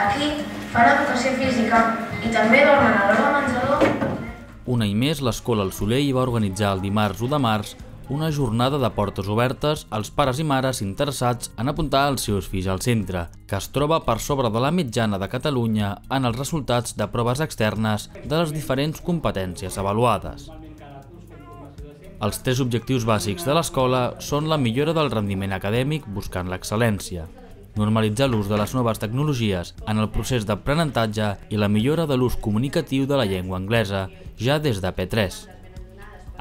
Aquí fan educació física i també dormen a l'hora de menjador. Un any més, l'Escola El Solell va organitzar el dimarts 1 de març una jornada de portes obertes als pares i mares interessats en apuntar els seus fills al centre, que es troba per sobre de la mitjana de Catalunya en els resultats de proves externes de les diferents competències avaluades. Els 3 objectius bàsics de l'escola són la millora del rendiment acadèmic buscant l'excel·lència, normalitzar l'ús de les noves tecnologies en el procés d'aprenentatge i la millora de l'ús comunicatiu de la llengua anglesa ja des de P3.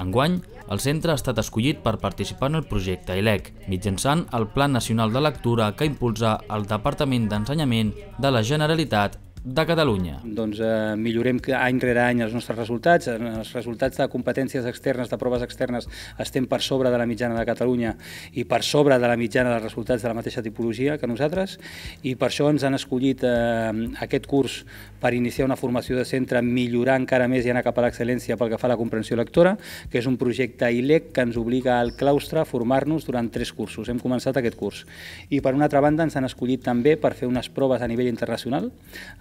Enguany, el centre ha estat escollit per participar en el projecte ILEC, mitjançant el Pla Nacional de Lectura que impulsa el Departament d'Ensenyament de la Generalitat de Catalunya. Doncs millorem any rere any els nostres resultats. Els resultats de competències externes, de proves externes, estem per sobre de la mitjana de Catalunya i per sobre de la mitjana dels resultats de la mateixa tipologia que nosaltres, i per això ens han escollit aquest curs per iniciar una formació de centre, millorar encara més i anar cap a l'excel·lència pel que fa a la comprensió lectora, que és un projecte ILEC que ens obliga al claustre a formar-nos durant 3 cursos. Hem començat aquest curs. I per una altra banda ens han escollit també per fer unes proves a nivell internacional,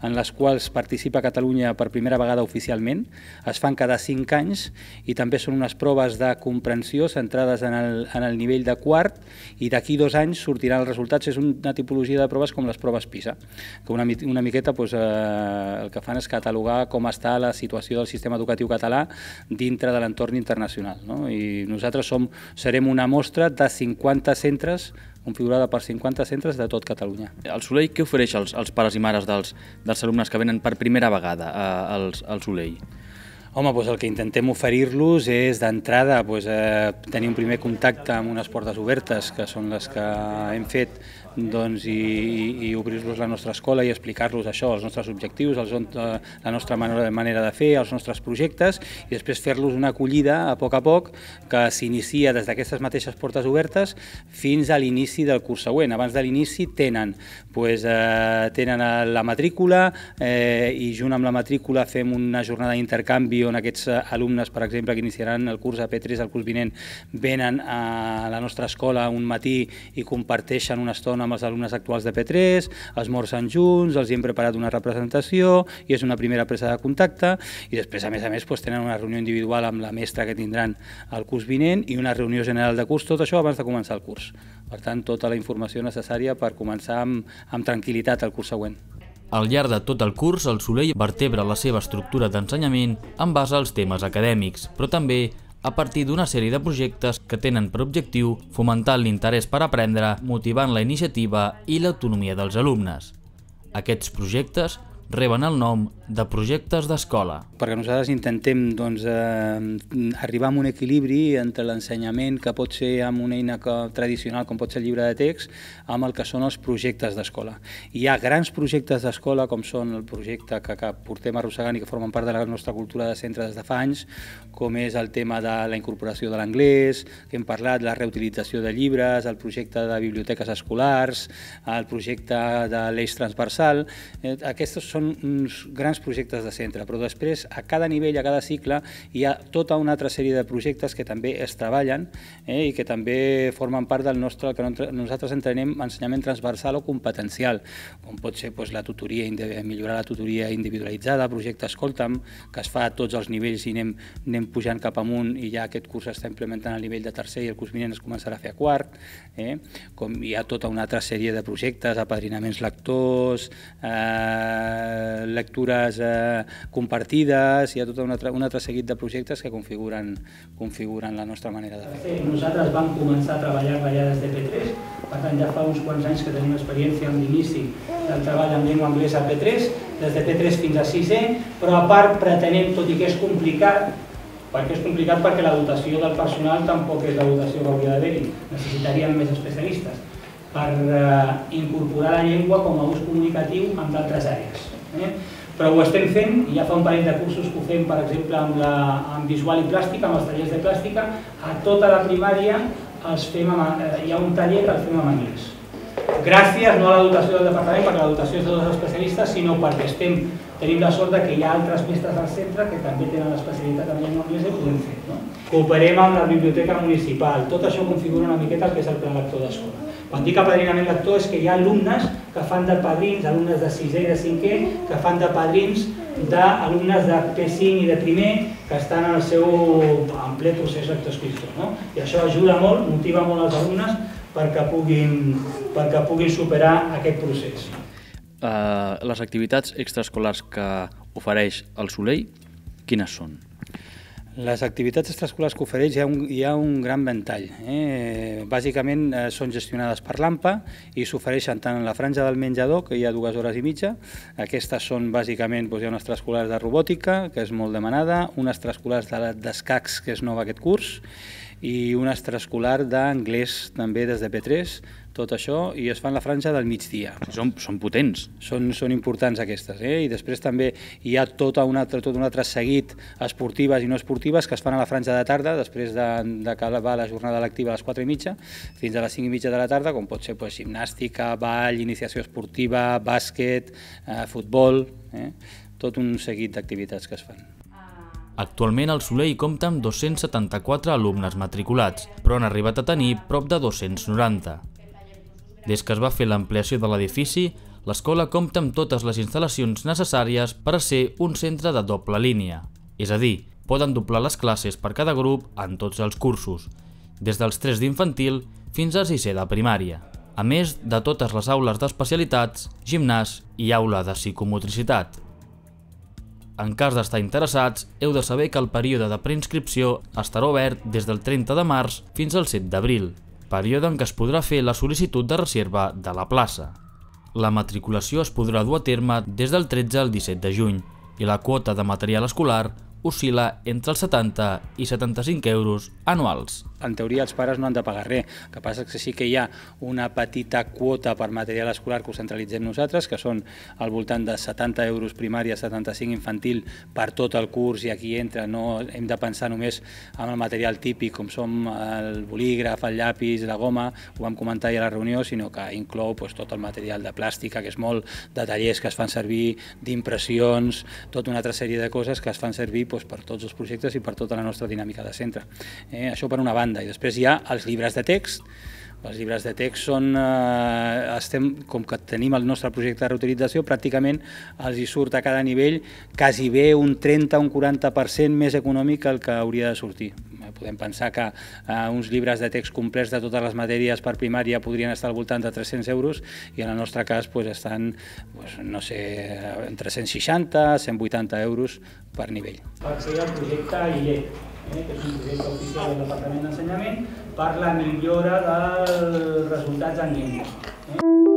en les quals participa Catalunya per primera vegada oficialment. Es fan cada 5 anys i també són unes proves de comprensió centrades en el nivell de quart, i d'aquí 2 anys sortiran els resultats. És una tipologia de proves com les proves PISA, que una miqueta el que fan és catalogar com està la situació del sistema educatiu català dintre de l'entorn internacional. I nosaltres serem una mostra de 50 centres, configurada per 50 centres de tot Catalunya. El Solell què ofereix als pares i mares dels alumnes que venen per primera vegada al Solell? Home, el que intentem oferir-los és d'entrada tenir un primer contacte amb unes portes obertes, que són les que hem fet, i obrir-los la nostra escola i explicar-los això, els nostres objectius, la nostra manera de fer, els nostres projectes, i després fer-los una acollida a poc que s'inicia des d'aquestes mateixes portes obertes fins a l'inici del curs següent. Abans de l'inici tenen la matrícula i junt amb la matrícula fem una jornada d'intercanvi on aquests alumnes, per exemple, que iniciaran el curs a P3 el curs vinent, venen a la nostra escola un matí i comparteixen una estona amb els alumnes actuals de P3, esmorzen junts, els hi hem preparat una representació i és una primera presa de contacte, i després, a més, tenen una reunió individual amb la mestra que tindran el curs vinent i una reunió general de curs, tot això abans de començar el curs. Per tant, tota la informació necessària per començar amb tranquil·litat el curs següent. Al llarg de tot el curs, el Solell vertebra la seva estructura d'ensenyament en base als temes acadèmics, però també a partir d'una sèrie de projectes que tenen per objectiu fomentar l'interès per aprendre, motivant la iniciativa i l'autonomia dels alumnes. Aquests projectes reben el nom de projectes d'escola. Perquè nosaltres intentem arribar a un equilibri entre l'ensenyament que pot ser amb una eina tradicional com pot ser el llibre de text amb el que són els projectes d'escola. Hi ha grans projectes d'escola com són el projecte que portem arrossegant i que formen part de la nostra cultura de centre des de fa anys, com és el tema de la incorporació de l'anglès, que hem parlat, la reutilització de llibres, el projecte de biblioteques escolars, el projecte de l'eix transversal. Aquests són uns grans projectes de centre, però després a cada nivell, a cada cicle, hi ha tota una altra sèrie de projectes que també es treballen i que també formen part del nostre, que nosaltres entenem ensenyament transversal o competencial, com pot ser millorar la tutoria individualitzada, projecte Escolta'm, que es fa a tots els nivells i anem pujant cap amunt, i ja aquest curs s'està implementant al nivell de tercer i el curs vinent es començarà a fer a quart. Com hi ha tota una altra sèrie de projectes, apadrinaments lectors, lectures compartides, hi ha tot un altre seguit de projectes que configuren la nostra manera de fer. Nosaltres vam començar a treballar-la ja des de P3, per tant ja fa uns quants anys que tenim experiència en l'inici del treball en llengua anglesa a P3, des de P3 fins a 6è, però a part pretenem, tot i que és complicat, perquè la dotació del personal tampoc és la dotació que hauria d'haver-hi, necessitaríem més especialistes, per incorporar la llengua com a ús comunicatiu en d'altres àrees. Però ho estem fent, i ja fa un parell de cursos que ho fem, per exemple, amb visual i plàstica, amb els tallers de plàstica, a tota la primària hi ha un taller que el fem en anglès. Gràcies no a la dotació del departament, perquè la dotació és de 2 especialistes, sinó perquè tenim la sort que hi ha altres mestres del centre que també tenen l'especialitat en llengua anglesa i ho podem fer. Cooperem amb la biblioteca municipal, tot això configura una miqueta el que és el pla lector d'escola. Quan dic apadrinament lector és que hi ha alumnes que fan de padrins, alumnes de 6è i de 5è, que fan de padrins d'alumnes de P5 i de primer que estan en ple procés lectoescriptor. I això ajuda molt, motiva molt els alumnes perquè puguin superar aquest procés. Les activitats extraescolars que ofereix el Soleil, quines són? Les activitats extraescolars que ofereix hi ha un gran ventall. Bàsicament són gestionades per l'AMPA i s'ofereixen tant en la franja del menjador, que hi ha 2 hores i mitja. Aquestes són bàsicament, hi ha una extraescolar de robòtica, que és molt demanada, una extraescolar d'escacs, que és nova aquest curs, i una extraescolar d'anglès també des de P3, tot això, i es fa en la franja del migdia. Són potents. Són importants aquestes. I després també hi ha tot un altre seguit esportives i no esportives que es fan a la franja de tarda, després d'acabar la jornada lectiva a les 4:30 fins a les 5:30 de la tarda, com pot ser gimnàstica, ball, iniciació esportiva, bàsquet, futbol, tot un seguit d'activitats que es fan. Actualment el Soleil compta amb 274 alumnes matriculats, però han arribat a tenir prop de 290. Des que es va fer l'ampliació de l'edifici, l'escola compta amb totes les instal·lacions necessàries per a ser un centre de doble línia. És a dir, poden doblar les classes per cada grup en tots els cursos, des dels 3 d'infantil fins a 6è de primària, a més de totes les aules d'especialitats, gimnàs i aula de psicomotricitat. En cas d'estar interessats, heu de saber que el període de preinscripció estarà obert des del 30 de març fins al 7 d'abril, període en què es podrà fer la sol·licitud de reserva de la plaça. La matriculació es podrà dur a terme des del 13 al 17 de juny i la quota de material escolar oscil·la entre els 70 i 75 euros anuals. En teoria els pares no han de pagar res, el que passa és que sí que hi ha una petita quota per material escolar que ho centralitzem nosaltres, que són al voltant de 70 euros primària, 75 infantil per tot el curs, i aquí entra, no hem de pensar només en el material típic com som el bolígraf, el llapis, la goma, ho vam comentar ja a la reunió, sinó que inclou tot el material de plàstica, que és molt de tallers que es fan servir, d'impressions, tota una altra sèrie de coses que es fan servir per tots els projectes i per tota la nostra dinàmica de centre. Això per una banda. I després hi ha els llibres de text. Els llibres de text són, com que tenim el nostre projecte de reutilització, pràcticament els hi surt a cada nivell quasi bé un 30 o un 40% més econòmic que el que hauria de sortir. Podem pensar que uns llibres de text complets de totes les matèries per primària podrien estar al voltant de 300 euros i en el nostre cas estan, no sé, entre 160 i 180 euros per nivell. Per fer el projecte ILET, que és un projecte oficial del Departament d'Ensenyament per la millora dels resultats en llengua.